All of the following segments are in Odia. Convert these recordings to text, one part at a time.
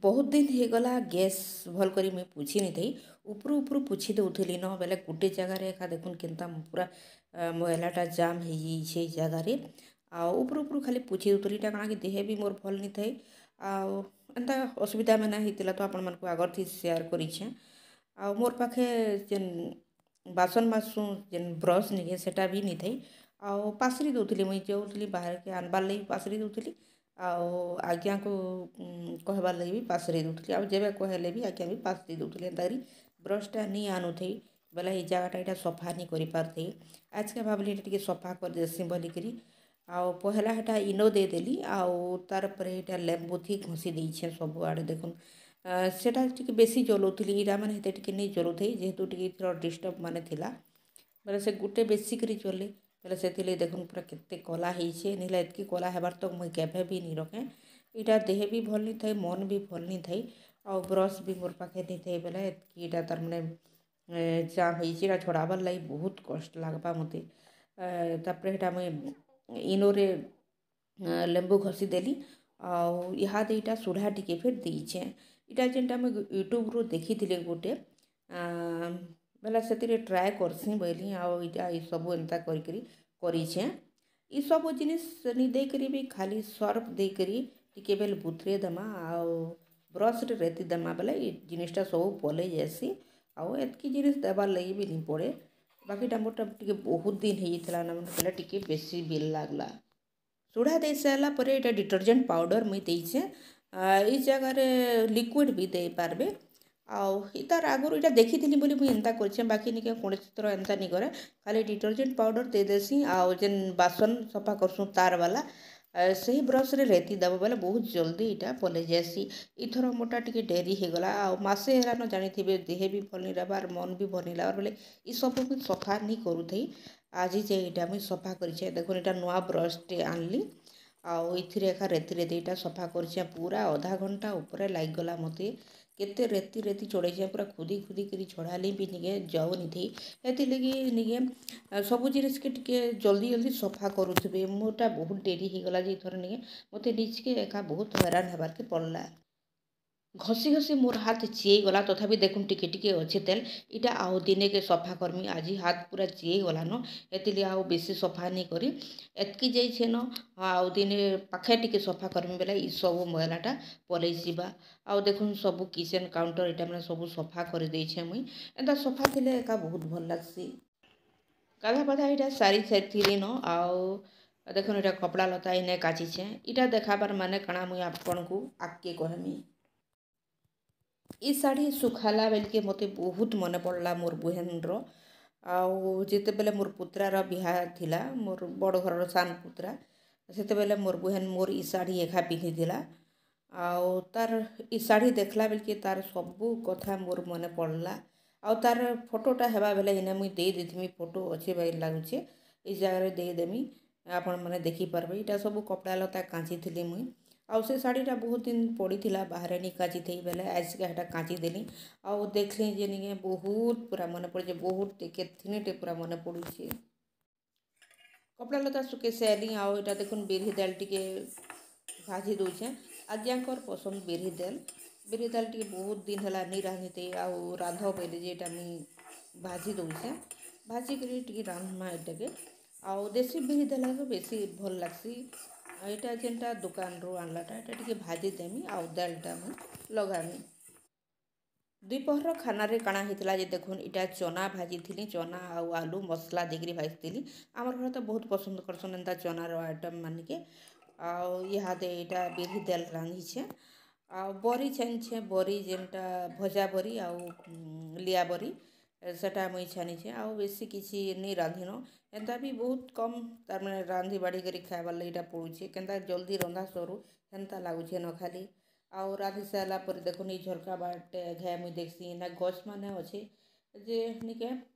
ବହୁତ ଦିନ ହେଇଗଲା, ଗ୍ୟାସ୍ ଭଲ୍ କରି ମୁଇଁ ପୁଛି ନି ଥାଇ। ଉପରୁ ଉପରୁ ପୁଛି ଦଉଥିଲି ନ ବେଲେ ଗୁଟେ ଜାଗାରେ ଏକା ଦେଖୁନ୍ କେନ୍ତା ପୁରା ମଇଲାଟା ଜାମ୍ ହେଇଯାଇଛେ ଏଇ ଜାଗାରେ। ଆଉ ଉପରୁ ଉପରୁ ଖାଲି ପୁଛି ଦଉଥିଲି। ଇଟା କାଣା କି ଦେହେ ବି ମୋର୍ ଭଲ୍ ନି ଥାଇ ଆଉ ଏନ୍ତା ଅସୁବିଧା ମାନେ ହେଇଥିଲା, ତ ଆପଣମାନଙ୍କୁ ଆଗର୍ ଥି ସେୟାର୍ କରିଛେଁ। ଆଉ ମୋର୍ ପାଖେ ଯେନ୍ ବାସନ୍ ମାଜ୍ସୁଁ ଯେନ୍ ବ୍ରସ୍ ନିକେ, ସେଟା ବି ନି ଥାଇ। ଆଉ ପାଶରି ଦଉଥିଲି, ମୁଇଁ ଯାଉଥିଲି ବାହାରକେ ଆନ୍ବାର୍ ଲାଗି ପାଶରି ଦଉଥିଲି, ଆଉ ଆଜ୍ଞାକୁ କହେବାର୍ ଲାଗି ବି ପାଶରି ଦଉଥିଲି, ଆଉ ଯେବେ କହେଲେ ବି ଆଜ୍ଞା ବି ପାଶରି ଦଉଥିଲେ। ଏନ୍ତା କରି ବ୍ରସ୍ଟା ନି ଆନୁଥାଇ ବେଲେ ଏଇ ଜାଗାଟା ଏଇଟା ସଫା ନି କରିପାରୁଥାଇ। ଆଜକେ ଭାବିଲି ଏଇଟା ଟିକେ ସଫା କରିଦେସି ବୋଲିକିରି। ଆଉ ପହେଲା ହେଟା ଇନୋ ଦେଇଦେଲି, ଆଉ ତାର୍ ପରେ ଏଇଟା ଲେମ୍ବୁଥି ଘଷି ଦେଇଛେଁ ସବୁଆଡ଼େ। ଦେଖୁନ୍, ସେଟା ଟିକେ ବେଶୀ ଜଲଉଥିଲି, ଇଟା ମାନେ ହେତେ ଟିକେ ନେଇ ଜଲଉଥାଇ। ଯେହେତୁ ଟିକେ ଏଥର ଡିଷ୍ଟର୍ବ ମାନେ ଥିଲା ବେଲେ ସେ ଗୁଟେ ବେଶୀ କରି ଜଲେ ବେଲେ ସେଥିର୍ଲାଗି ଦେଖୁନ୍ ପୁରା କେତେ କଲା ହେଇଛେ। ନହେଲେ ଏତ୍କି କଲା ହେବାର୍ ତ ମୁଇଁ କେଭେ ବି ନି ରଖେଁ। ଇଟା ଦେହ ବି ଭଲ୍ ନି ଥାଇ, ମନ୍ ବି ଭଲ୍ ନି ଥାଇ, ଆଉ ବ୍ରସ୍ ବି ମୋର୍ ପାଖେ ନି ଥାଇ ବେଲେ ଏତ୍କି ଇଟା ତାର୍ମାନେ ଜାମ୍ ହେଇଛେ। ଇଟା ଛଡ଼ାବାର୍ ଲାଗି ବହୁତ୍ କଷ୍ଟ ଲାଗ୍ବା ମତେ। ତାପରେ ହେଟା ମୁଇଁ ଇନୋରେ ଲେମ୍ବୁ ଘଷିଦେଲି, ଆଉ ଇହାଦେ ଇଟା ସୁଢ଼ା ଟିକେ ଫେର୍ ଦେଇଛେଁ। ଇଟା ଯେନ୍ଟା ମୁଇଁ ୟୁଟ୍ୟୁବ୍ରୁ ଦେଖିଥିଲି ଗୁଟେ ବେଲେ ସେଥିରେ ଟ୍ରାଏ କର୍ସିଁ ବଇଲି, ଆଉ ଇଟା ସବୁ ଏନ୍ତା କରିକିରି କରିଛେଁ। ଇସବୁ ଜିନିଷ୍ ନି ଦେଇକରି ବି ଖାଲି ସର୍ଫ ଦେଇକରି ଟିକେ ବେଲ୍ ବୁତୁରେଇ ଦେମା ଆଉ ବ୍ରସ୍ରେ ରେତି ଦେମା ବେଲେ ଇ ଜିନିଷ୍ଟା ସବୁ ପଲେଇ ଯାଏସି, ଆଉ ଏତ୍କି ଜିନିଷ୍ ଦେବାର୍ ଲାଗି ବି ନି ପଡ଼େ। ବାକିଟା ମୋର୍ଟା ଟିକେ ବହୁତ୍ ଦିନ୍ ହେଇଯାଇଥିଲା ନା ବେଲେ ଟିକେ ବେଶୀ ବିଲ୍ ଲାଗ୍ଲା। ସୁଢ଼ା ଦେଇ ସାରିଲା ପରେ ଏଇଟା ଡିଟର୍ଜେଣ୍ଟ ପାଉଡ଼ର୍ ମୁଇଁ ଦେଇଛେଁ। ଏଇ ଜାଗାରେ ଲିକ୍ୱିଡ଼୍ ବି ଦେଇପାରବେ। ଆଉ ତାର୍ ଆଗରୁ ଏଇଟା ଦେଖିଥିଲି ବୋଲି ମୁଇଁ ଏନ୍ତା କରିଛେଁ, ବାକି ନିକେ କୌଣସି ଥର ଏନ୍ତା ନି କରେ। ଖାଲି ଡିଟର୍ଜେଣ୍ଟ ପାଉଡ଼ର୍ ଦେଇଦେସି, ଆଉ ଯେନ୍ ବାସନ୍ ସଫା କର୍ସୁଁ ତାର୍ ବାଲା ସେହି ବ୍ରସ୍ରେ ରେତି ଦେବ ବେଲେ ବହୁତ ଜଲ୍ଦି ଇଟା ପଲେଇ ଯାଏସି। ଇଥର ମୋର୍ଟା ଟିକେ ଡେରି ହେଇଗଲା। ଆଉ ମାସେ ହେଲାନ, ଜାଣିଥିବେ, ଦେହେ ବି ଭଲ୍ ନି ରହେବାର୍, ମନ୍ ବି ଭଲ୍ ନି ଲାଗ୍ବାର୍ ବେଲେ ଇସବୁ ମୁଇଁ ସଫା ନି କରୁଥାଇ। ଆଜି ଯେ ଇଟା ମୁଇଁ ସଫା କରିଛେଁ। ଦେଖୁନ୍, ଇଟା ନୂଆ ବ୍ରସ୍ଟେ ଆନ୍ଲି ଆଉ ଏଥିରେ ଏକା ରେତି ରେତି ଇଟା ସଫା କରିଛେଁ। ପୁରା ଅଧା ଘଣ୍ଟା ଉପରେ ଲାଗିଗଲା ମତେ। କେତେ ରେତି ରେତି ଛଡ଼େଇଛେଁ, ପୁରା ଖୁଦି ଖୁଦି କରି ଛଡ଼ାଲି ବି ନିକେ ଯାଉନିଥି। ହେଥିର୍ଲାଗି ନିକେ ସବୁ ଜିନିଷ୍କେ ଟିକେ ଜଲ୍ଦି ଜଲ୍ଦି ସଫା କରୁଥିବେ। ମୋର୍ଟା ବହୁତ ଡେରି ହେଇଗଲା ଯେ ଏଥର ନିକେ ମତେ ନିଜକେ ଏକା ବହୁତ ହଇରାଣ ହେବାର୍କେ ପଡ଼୍ଲା। ଘଷି ଘଷି ମୋର୍ ହାତ୍ ଚିଏଇ ଗଲା, ତଥାପି ଦେଖୁନ୍ ଟିକେ ଟିକେ ଅଛେ ତେଲ୍। ଇଟା ଆଉ ଦିନେକେ ସଫା କର୍ମି। ଆଜି ହାତ୍ ପୁରା ଚିଏଇ ଗଲାନ, ହେଥିର୍ଲାଗି ଆଉ ବେଶୀ ସଫା ନି କରି ଏତ୍କି ଯାଇଛେନ। ଆଉ ଦିନେ ପାଖେ ଟିକେ ସଫା କର୍ମି ବେଲେ ଇ ସବୁ ମଇଲାଟା ପଲେଇ ଯିବା। ଆଉ ଦେଖୁନ୍, ସବୁ କିଚେନ୍ କାଉଣ୍ଟର୍ ଇଟା ମାନେ ସବୁ ସଫା କରିଦେଇଛେଁ ମୁଇଁ। ଏନ୍ତା ସଫା ଥିଲେ ଏକା ବହୁତ୍ ଭଲ୍ ଲାଗ୍ସି। ଗାଧା ପାଧା ଇଟା ସାରି ସାରିଥିଲିନ। ଆଉ ଦେଖୁନ୍, ଇଟା କପଡ଼ା ଲତା ଇନେ କାଚିଛେଁ। ଇଟା ଦେଖାବାର୍ ମାନେ କାଣା ମୁଇଁ ଆପଣଙ୍କୁ ଆଗ୍କେ କହେମି। ଇ ଶାଢ଼ୀ ଶୁଖାଲା ବେଲ୍କେ ମୋତେ ବହୁତ ମନେ ପଡ଼୍ଲା ମୋର୍ ବୁହେନ୍ର। ଆଉ ଯେତେବେଲେ ମୋର୍ ପୁତ୍ରାର ବିହା ଥିଲା, ମୋର୍ ବଡ଼ ଘରର ସାନ୍ ପୁତ୍ରା, ସେତେବେଲେ ମୋର୍ ବୁହେନ୍ ମୋର୍ ଇ ଶାଢ଼ୀ ଏଖା ପିନ୍ଧିଥିଲା। ଆଉ ତାର୍ ଇ ଶାଢ଼ୀ ଦେଖ୍ଲା ବେଲ୍କେ ତାର୍ ସବୁ କଥା ମୋର୍ ମନେ ପଡ଼୍ଲା। ଆଉ ତାର୍ ଫଟୋଟା ହେବା ବେଲେ ଇନେ ମୁଇଁ ଦେଇ ଦେଇଥିମି। ଫଟୋ ଅଛେ ବାଗିର୍ ଲାଗୁଛେ, ଇ ଜାଗାରେ ଦେଇଦେମି, ଆପଣମାନେ ଦେଖିପାରବେ। ଇଟା ସବୁ କପଡ଼ା ଲତା କାଚିଥିଲି ମୁଇଁ। ଆଉ ସେ ଶାଢ଼ୀଟା ବହୁତ ଦିନ ପଡ଼ିଥିଲା ବାହାରେ, ନି କାଚିଥାଇ ବେଲେ ଆଜକା ହେଟା କାଚିଦେଲି। ଆଉ ଦେଖ୍ଲି ଯେ ନିକେ ବହୁତ ପୁରା ମନେ ପଡ଼ୁଛେ, ବହୁତ କେତ୍ଥିନିଟେ ପୁରା ମନେ ପଡ଼ୁଛେ। କପଡ଼ା ଲତା ଶୁଖେଇ ସାଇଲି। ଆଉ ଏଇଟା ଦେଖୁନ୍, ବିରି ଦାଲ୍ ଟିକେ ଭାଜି ଦଉଛେଁ। ଆଜ୍ଞାଙ୍କର ପସନ୍ଦ ବିରି ଦାଲ୍। ବିରି ଦାଲ୍ ଟିକେ ବହୁତ ଦିନ ହେଲା ନି ରାନ୍ଧିଥାଇ, ଆଉ ରାନ୍ଧ ବୋଇଲେ ଯେ ଏଇଟା ମୁଇଁ ଭାଜି ଦଉଛେଁ। ଭାଜିକରି ଟିକେ ରାନ୍ଧମା ଏଟାକେ। ଆଉ ଦେଶୀ ବିରି ଦାଲ୍ ବେଶୀ ଭଲ୍ ଲାଗ୍ସି। ଏଇଟା ଯେନ୍ଟା ଦୋକାନରୁ ଆନ୍ଲାଟା, ଏଇଟା ଟିକେ ଭାଜିଦେମି ଆଉ ଦାଲ୍ଟା ମୁଇଁ ଲଗାମି। ଦ୍ୱିପହର ଖାନାରେ କାଣା ହେଇଥିଲା ଯେ ଦେଖୁନ୍, ଇଟା ଚନା ଭାଜିଥିଲି। ଚନା ଆଉ ଆଲୁ ମସଲା ଦେଇକିରି ଭାଜିଥିଲି। ଆମର୍ ଘରେ ତ ବହୁତ ପସନ୍ଦ କରସନ୍ ଏନ୍ତା ଚନାର ଆଇଟମ୍ ମାନିକେ। ଆଉ ଇହାଦେ ଏଇଟା ବିରି ଦାଲ୍ ରାନ୍ଧିଛେଁ, ଆଉ ବରି ଛାନିଛେଁ। ବରି ଯେନ୍ଟା ଭଜା ବରି ଆଉ ଲିଆ ବରି, ସେଟା ମୁଇଁ ଛାନିଛେଁ। ଆଉ ବେଶୀ କିଛି ନି ରାନ୍ଧିନ। ଏନ୍ତା ବି ବହୁତ କମ୍ ତାର୍ମାନେ ରାନ୍ଧି ବାଢ଼ି କରି ଖାଇବାର୍ ଲାଗି ଇଟା ପଡ଼ୁଛେ। କେନ୍ତା ଜଲ୍ଦି ରନ୍ଧା ସରୁ ହେନ୍ତା ଲାଗୁଛେ ନ ଖାଲି। ଆଉ ରାନ୍ଧି ସାରିଲା ପରେ ଦେଖୁନ୍, ଏଇ ଝରକା ବାଟେ ଘାଏ ମୁଇଁ ଦେଖ୍ସି ନା ଗଛ୍ ମାନେ ଅଛେ ଯେ ନିକେ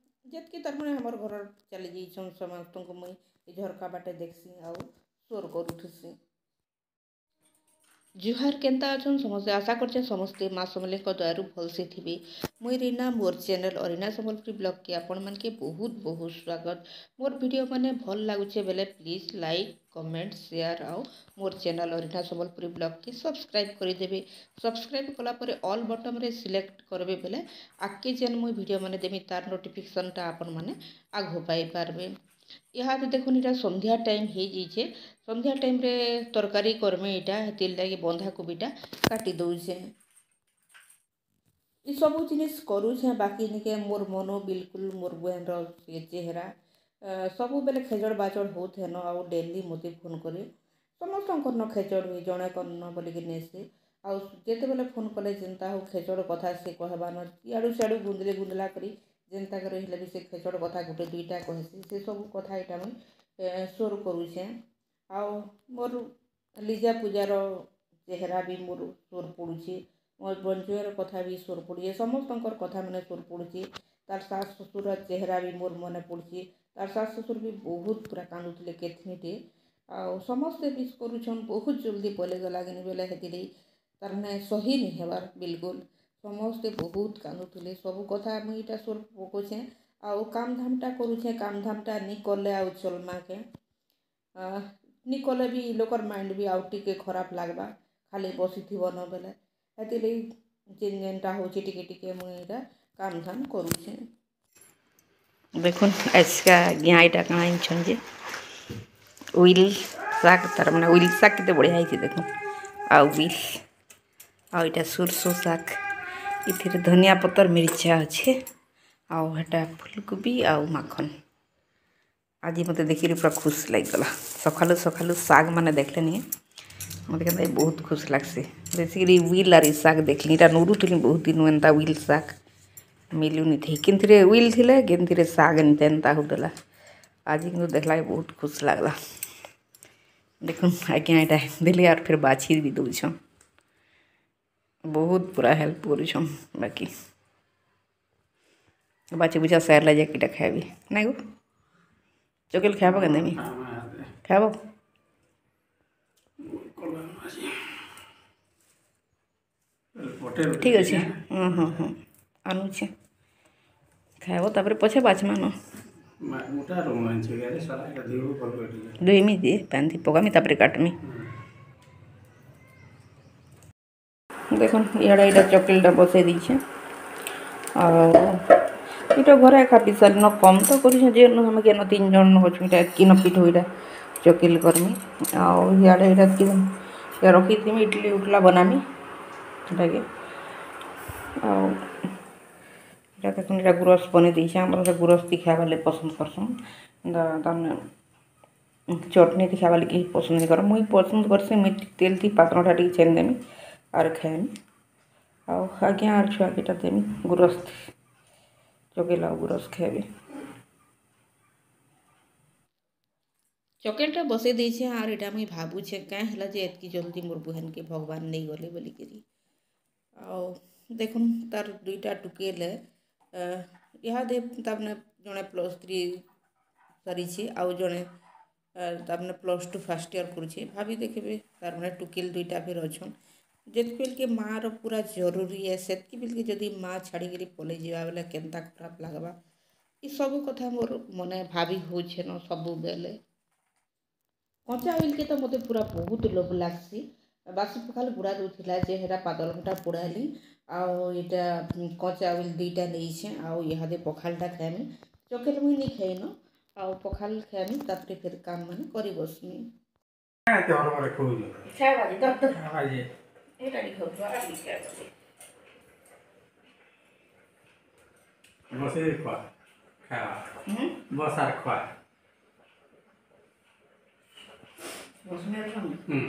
ଯେତ୍କି ତାର୍ମାନେ ଆମର୍ ଘରର୍ ଚାଲି ଯାଇଛନ୍, ସମସ୍ତଙ୍କୁ ମୁଇଁ ଏଇ ଝରକା ବାଟେ ଦେଖ୍ସି ଆଉ ସୋର୍ କରୁଥିସି। ଜୁହାର କେନ୍ତା ଅଛନ୍ ସମସ୍ତେ? ଆଶା କରୁଛେ ସମସ୍ତେ ମା ସମଲେଇଙ୍କ ଦୟାରୁ ଭଲସେ ଥିବେ। ମୁଇଁ ରୀନା, ମୋର୍ ଚ୍ୟାନେଲ୍ ଅରିନା ସମ୍ବଲପୁରୀ ବ୍ଲଗ୍କେ ଆପଣମାନକେ ବହୁତ ବହୁତ ସ୍ୱାଗତ। ମୋର୍ ଭିଡ଼ିଓ ମାନେ ଭଲ୍ ଲାଗୁଛେ ବେଲେ ପ୍ଲିଜ୍ ଲାଇକ୍, କମେଣ୍ଟ, ସେୟାର ଆଉ ମୋର୍ ଚ୍ୟାନେଲ୍ ଅରିନା ସମ୍ବଲପୁରୀ ବ୍ଲଗ୍କେ ସବସ୍କ୍ରାଇବ୍ କରିଦେବେ। ସବସ୍କ୍ରାଇବ୍ କଲା ପରେ ଅଲ୍ ବଟନ୍ରେ ସିଲେକ୍ଟ କରିବେ ବେଲେ ଆଗ୍କେ ଯେନ୍ ମୁଇଁ ଭିଡ଼ିଓ ମାନେ ଦେମି ତାର୍ ନୋଟିଫିକେସନ୍ଟା ଆପଣମାନେ ଆଘ ପାଇପାରବେ। ଇହାଦେ ଦେଖୁନ୍, ଇଟା ସନ୍ଧ୍ୟା ଟାଇମ୍ ହେଇଯାଇଛେ। ସନ୍ଧ୍ୟା ଟାଇମ୍ରେ ତରକାରୀ କର୍ମି ଇଟା, ହେଥିର୍ ଲାଗି ବନ୍ଧାକୋବିଟା କାଟି ଦଉଛେଁ। ଇ ସବୁ ଜିନିଷ୍ କରୁଛେଁ, ବାକି ନିକେ ମୋର୍ ମନ ବିଲକୁଲ୍ ମୋର୍ ବହେନ୍ର ସେ ଚେହେରା ସବୁବେଲେ ଖେଚଡ଼୍ ବାଚଡ଼୍ ହଉଥେନ। ଆଉ ଡେଲି ମୋତେ ଫୋନ୍ କରେ। ସମସ୍ତଙ୍କର୍ନ ଖେଚଡ଼୍ ହୁଏ, ଜଣେକର୍ନ ବୋଲିକି ନେଇସେ। ଆଉ ଯେତେବେଲେ ଫୋନ୍ କଲେ ଯେନ୍ତା ହଉ ଖେଚଡ଼୍ କଥା ସେ କହେବାନ। ଇଆଡ଼ୁ ସିଆଡ଼ୁ ଗୁନ୍ଦଲି ଗୁନ୍ଦଲା କରି ଯେନ୍ତା କରି ହେଲେ ବି ସେ ଖେଚଡ଼୍ କଥା ଗୁଟେ ଦୁଇଟା କହେସି। ସେ ସବୁ କଥା ଇଟା ମୁଇଁ ସୋର୍ କରୁଛେଁ। ଆଉ ମୋର୍ ଲିଜା ପୂଜାର ଚେହେରା ବି ମୋର୍ ସୋର୍ ପଡ଼ୁଛେ, ମୋର୍ ବଞ୍ଜୁଏର କଥା ବି ସୋର୍ ପଡ଼ୁଛେ, ସମସ୍ତଙ୍କର୍ କଥା ମାନେ ସୋର୍ ପଡ଼ୁଛେ। ତାର୍ ଶାଶ୍ ଶ୍ୱଶୁର୍ର ଚେହେରା ବି ମୋର୍ ମନେ ପଡ଼ୁଛେ। ତାର୍ ଶାଶ୍ ଶ୍ୱଶୁର୍ ବି ବହୁତ୍ ପୁରା କାନ୍ଦୁଥିଲେ କେତ୍ନିଟେ। ଆଉ ସମସ୍ତେ ମିସ୍ କରୁଛନ୍। ବହୁତ ଜଲ୍ଦି ପଲେଇଗଲା କିନି ବେଲେ ହେଥିର୍ଲାଗି ତାର୍ମାନେ ସହି ନି ହେବାର୍ ବିଲକୁଲ୍। ସମସ୍ତେ ବହୁତ କାନ୍ଦୁଥିଲେ। ସବୁ କଥା ମୁଇଁ ଇଟା ସୋର୍ ପକଉଛେଁ ଆଉ କାମ୍ ଧାମ୍ଟା କରୁଛେଁ। କାମ୍ ଧାମ୍ଟା ନି କଲେ ଆଉ ଚଲ୍ମା କେଁ? ନି କଲେ ବି ଲୋକର୍ ମାଇଣ୍ଡ ବି ଆଉ ଟିକେ ଖରାପ୍ ଲାଗ୍ବା, ଖାଲି ବସିଥିବ ନ ବେଲେ। ହେଥିର୍ଲାଗି ଯେନ୍ ଯେନ୍ଟା ହଉଛେ ଟିକେ ଟିକେ ମୁଇଁ ଇଟା କାମ୍ ଧାମ୍ କରୁଛେଁ। ଦେଖୁନ୍, ଆଜକା ଆଜ୍ଞା ଏଇଟା କାଣା ଆଣିଛନ୍ ଯେ will ଶାଗ୍, ତାର୍ ମାନେ will ଶାଗ୍ କେତେ ବଢ଼ିଆ ହେଇଛେ ଦେଖୁନ୍। ଆଉ will ଆଉ ଏଇଟା ସୁରସୋ ଶାଗ୍, ଏଥିରେ ଧନିଆ ପତର ମିର୍ଚା ଅଛେ, ଆଉ ହେଟା ଫୁଲକୋବି ଆଉ ମାଖନ୍। ଆଜି ମୋତେ ଦେଖିକରି ପୁରା ଖୁସି ଲାଗିଗଲା। ସକାଳୁ ସକାଳୁ ଶାଗ୍ ମାନେ ଦେଖିଲେ ନି ମୋତେ କେନ୍ତା ବହୁତ ଖୁସି ଲାଗ୍ସି। ବେଶୀକରି will ଆର୍ ଇ ଶାଗ୍ ଦେଖିଲି, ଇଟା ନୁରୁଥିଲି ବହୁତ ଦିନୁ। ଏନ୍ତା will ଶାଗ୍ ମିଲୁନି ଥାଇ, କେନ୍ଥିରେ will ଥିଲେ, କେନ୍ଥିରେ ଶାଗ୍ ଏନ୍ତା ଏନ୍ତା ହଉଥିଲା। ଆଜି କିନ୍ତୁ ଦେଖିଲା ବହୁତ ଖୁସି ଲାଗ୍ଲା। ଦେଖୁନ୍, ଆଜ୍ଞା ଏଇଟା ଦେଲି ଆର୍ ଫେର୍ ବାଛି ବି ଦଉଛନ୍। ବହୁତ ପୁରା ହେଲ୍ପ କରୁଛନ୍। ବାକି ବାଛି ବୁଛା ସାରିଲା ଯାଇକି ଇଟା ଖାଇବି। ନାଇଁ ଗୋ ଚକେଲ, ଖାଇବ କେନ୍ତା ଦେମି, ଖାଇବ? ଠିକ୍ ଅଛି। ହଁ, ଆନୁଛେ, ଖାଇବ, ତାପରେ ପଛେ ବାଛମା ନ। ଧୁଇମି ଯେ, ପାନି ପକାମି, ତାପରେ କାଟମି। ଦେଖୁନ୍, ଇଆଡ଼େ ଏଇଟା ଚକେଲଟା ବସେଇ ଦେଇଛେ। ଆଉ ଏଇଟା ଘରେ ଏକା ପିସାଲିନ କମ୍ ତ କରୁଛେଁ ଯେ ଆମେ କେନ ତିନି ଜଣ ଅଛୁ, ଏଇଟା ଏତ୍କି ପିଠଉ ଏଇଟା ଚକେଲ କର୍ମି। ଆଉ ଇଆଡ଼େ ଏଇଟା ରଖିଥିମି, ଇଡ଼ଲି ଉଠଲା ବନାମି ସେଟାକେ। ଆଉ ଏଇଟା ଦେଖୁନ୍, ଏଇଟା ଗୁରସ୍ ବନେଇ ଦେଇଛେ। ଆମର ଗୁରସ୍ ଦି ଖାଇବାର୍ ଲାଗି ପସନ୍ଦ କରସନ୍, ତାମାନେ ଚଟନି ଦି ଖାଇବାର୍ ଲାଗି କେହି ପସନ୍ଦ ନାଇଁ କର। ମୁଇଁ ପସନ୍ଦ କର୍ସି। ମୁଇଁ ତେଲ୍ ଥି ପାତଲ୍ଘଣ୍ଟା ଟିକେ ଛେନି ଦେମି ଆର୍ ଖାଏମି। ଆଉ ଆଜ୍ଞା ଆର୍ ଛୁଆକେ ଇଟା ଦେମି, ଗୁରସ୍ ଚକେଲ ଆଉ ଗୁରସ୍ ଖାଏବେ। ଚକେଲଟା ବସେଇ ଦେଇଛେଁ। ଆର୍ ଇଟା ମୁଇଁ ଭାବୁଛେଁ, କାଁ ହେଲା ଯେ ଏତ୍କି ଜଲ୍ଦି ମୋର୍ ବହେନ୍କେ ଭଗବାନ୍ ନେଇଗଲେ ବୋଲିକିରି। ଆଉ ଦେଖୁନ୍, ତାର୍ ଦୁଇଟା ଟୁକେଲେ ଇହାଦେ ତାମାନେ ଜଣେ +3 ସାରିଛେ ଆଉ ଜଣେ ତାମାନେ +2 ଫାର୍ଷ୍ଟ ଇୟର୍ କରୁଛେ। ଭାବି ଦେଖିବେ, ତାର୍ ମାନେ ଟୁକେଲ୍ ଦୁଇଟା ଫେର୍ ଅଛନ୍। ଯେତ୍କି ବେଲ୍କେ ମାଆର ପୁରା ଜରୁରୀ ଏ, ସେତ୍କି ବେଲ୍କେ ଯଦି ମା' ଛାଡ଼ିକିରି ପଲେଇ ଯିବା ବେଲେ କେନ୍ତା ଖରାପ୍ ଲାଗ୍ବା। ଇ ସବୁ କଥା ମୋର୍ ମନେ ଭାବି ହଉଛେନ ସବୁବେଲେ। କଞ୍ଚା ଉଇଲ୍କେ ତ ମୋତେ ପୁରା ବହୁତ ଲୋଭ୍ ଲାଗ୍ସି। ବାସି ପଖାଲ୍ ଗୁଡ଼ା ଦଉଥିଲା ଯେ ହେଟା ପାତଲ୍ଘଣ୍ଟା ପୋଡ଼ାଲି। ଆଉ ଇଟା କଞ୍ଚା ଉଇଲ୍ ଦୁଇଟା ନେଇଛେଁ ଆଉ ଇହାଦେ ପଖାଲ୍ଟା ଖାଏମି। ଚକେଲ୍ ମୁଇଁ ନି ଖାଇନ, ଆଉ ପଖାଲ୍ ଖାଏମି, ତାପରେ ଫେର୍ କାମ୍ ମାନେ କରି ବସ୍ମି। ଏଇଟା ଟିକେ। ବସେଇ ଖୁଆ, ଖାଇବା ବସ ଆର୍ ଖୁଆ। ହୁଁ।